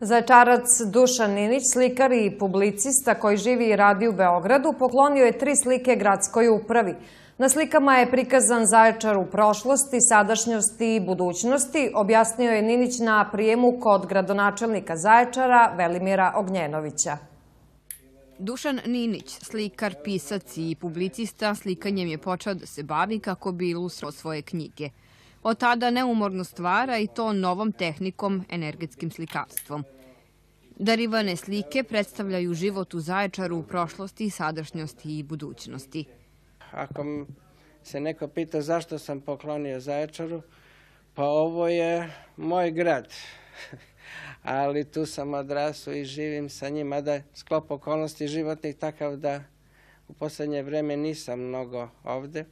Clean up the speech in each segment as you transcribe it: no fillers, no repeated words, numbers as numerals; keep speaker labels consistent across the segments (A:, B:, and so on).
A: Zaječarac Dušan Ninić, slikar i publicista koji živi i radi u Beogradu, poklonio je 3 slike gradskoj upravi. Na slikama je prikazan Zaječar u prošlosti, sadašnjosti i budućnosti, objasnio je Ninić na prijemu kod gradonačelnika Zaječara Velimira Ognjenovića.
B: Dušan Ninić, slikar, pisac i publicista, slikanjem je počeo da se bavi kako bi ilustrovao svoje knjige. Od tada neumorno stvara i to novom tehnikom, energetskim slikarstvom. Darivane slike predstavljaju život u Zaječaru u prošlosti, sadašnjosti i budućnosti.
C: Ako se neko pita zašto sam poklonio Zaječaru, pa ovo je moj grad. Ali tu sam odrasao i živim sa njim, mada je sklop okolnosti životnih takav da u posljednje vrijeme nisam mnogo ovdje,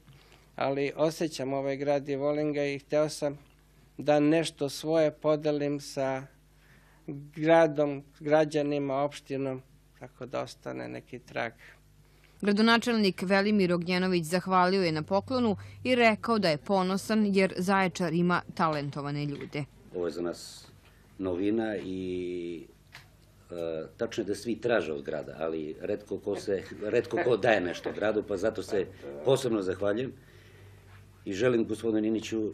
C: ali osjećam ovaj grad i volim ga i htio sam da nešto svoje podelim sa gradom, građanima, opštinom, tako da ostane neki trag.
B: Gradonačelnik Velimir Ognjenović zahvalio je na poklonu i rekao da je ponosan jer Zaječar ima talentovane ljude.
D: Ovo je za nas novina i tačno je da svi traže od grada, ali retko ko daje nešto gradu, pa zato se posebno zahvaljujem i želim gospodinu Niniću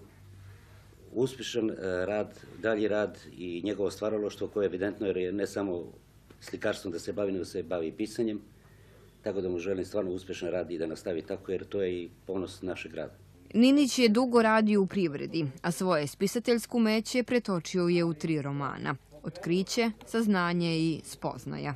D: uspješan rad, dalji rad i njegovo stvaralaštvo koje je evidentno jer je ne samo slikarstvom da se bavi, nego se bavi i pisanjem, tako da mu želim stvarno uspješan rad i da nastavi tako jer to je i ponos našeg grada.
B: Ninić je dugo radio u privredi, a svoje spisateljsko umeće pretočio je u 3 romana: Otkriće, Saznanje i Spoznaja.